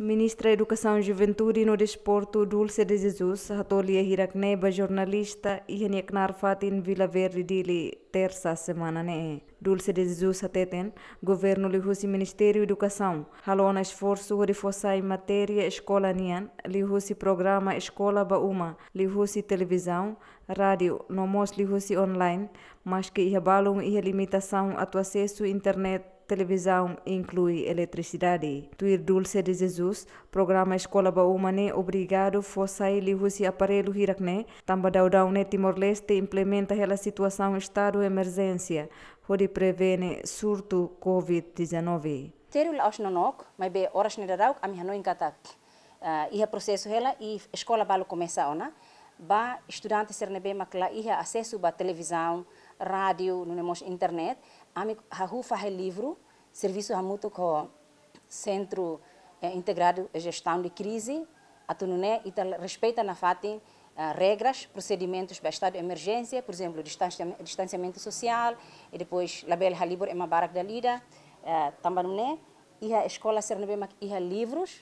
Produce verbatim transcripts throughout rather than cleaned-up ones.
Ministra Edukasaun, Juventude no Desportu, Dulce de Jesus, hato'o lia hirak-ne'e ba jornalista iha nia knaar fatin Vila Verde, Dili, Tersa semana ne'e. Dulce de Jesus hateten, governu liuhusi Ministériu Edukasaun halo ona esforsu hodi fó sai matéria eskola nian liuhusi programa Eskola ba Uma, liuhusi televizaun, rádiu, no mós liuhusi online, maske iha balun iha limitasaun atu asesu internet, televizaun, inklui eletrisidade. Tuir Dulce de Jesus, programa Eskola ba Uma ne'e obrigadu fó sai liuhusi aparellu hirak-ne'e, tanba daudaun ne'e Timor-Leste implementa hela situasaun estadu emerjénsia hodi prevene surtu covid dezanove. Ministériu la'ós nonook, maibé oras ne'e daudaun ami hanoin katak, ah, iha prosesu hela i eskola balu komesa ona, ba estudante sira ne'ebé mak la iha asesu ba televizaun, rádiu, nune'e mós internet, ami hahú fahe livru, servisu hamutuk ho Sentru, eh, Integradu Jestaun de Krize, atu nune'e ita respeita nafatin, ah, regras, prosedimentus ba estadu de emerjénsia, por ezemplu, distansia-, distansiamentu sosiál, i depois labele halibur ema barak dala ida, eh, tanba nune'e, iha eskola sira ne'ebé mak iha livrus,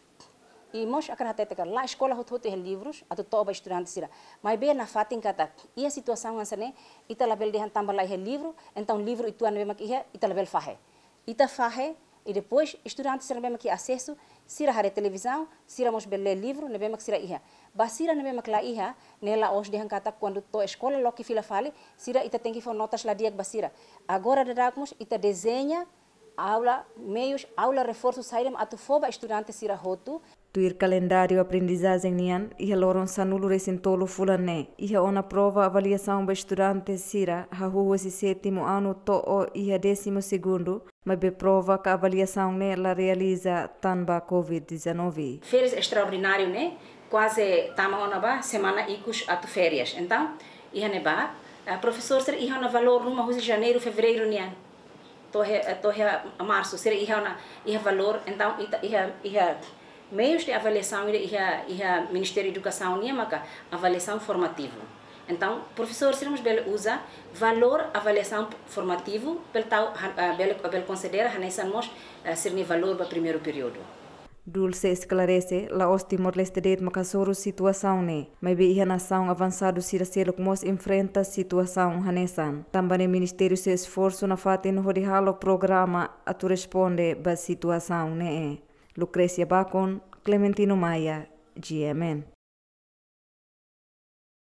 i mós hakarak hatete katak la eskola hotu-hotu iha livrus atu to'o ba estudante sira. Maibé nafatin katak, iha situasaun hanesan ne'e, ita labele dehan tanba la iha livru, entaun livru uitoan ne'ebé mak iha, ita labele fahe. Ita fahe, i depois estudante sira ne'ebé mak iha asesu, sira haree televizaun, sira mós bele lee livru ne'ebé mak sira iha. Ba sira ne'ebé mak la iha, ne'e la'ós dehan katak kuandu to'o eskola loke fila fali, sira ita tenke fó notas la di'ak ba sira. Agora daudaun mós ita dezeña aula, meius aula reforsu saida mak atu fó ba estudante sira hotu. Tuir kalendáriu aprendizajen nian, iha loron sanulu-resin-tolu fulan ne'e, iha ona prova avaliasaun ba estudante sira hahú husi sétimu anu to'o iha désimu segundu, maibé prova ka avaliasaun ne'e la realiza tanba covid dezanove. Férias estraordináriu ne'e kuaze tama ona ba semana ikus atu férias. Entaun, iha ne'ebá, eh, profesór sira iha ona valór ruma husi janeiru, fevereiru nian to'o iha, to'o iha marsu, sira iha ona, iha valór, entaun, ita, iha, iha meius de avaliasaun ida iha, iha Ministériu Edukasaun nian maka avaliasaun formativu. Entaun, profesór sira mós bele uza valór avaliasaun formativu, bele tau, ha-, ah, bele, bele konsidera hanesan mós, ah, sira-nia valór ba primeiru períodu. Dulce esklarese, la'ós Timor-Leste de'it mak hasoru situasaun ne'e, maibé iha nasaun avansadu sira seluk mós enfrenta situasaun hanesan. Tanba ne'e Ministériu sei esforsu nafatin hodi halo programa atu responde ba situasaun ne'e. Lucrecia Bacon, Clementino Maia, G M N.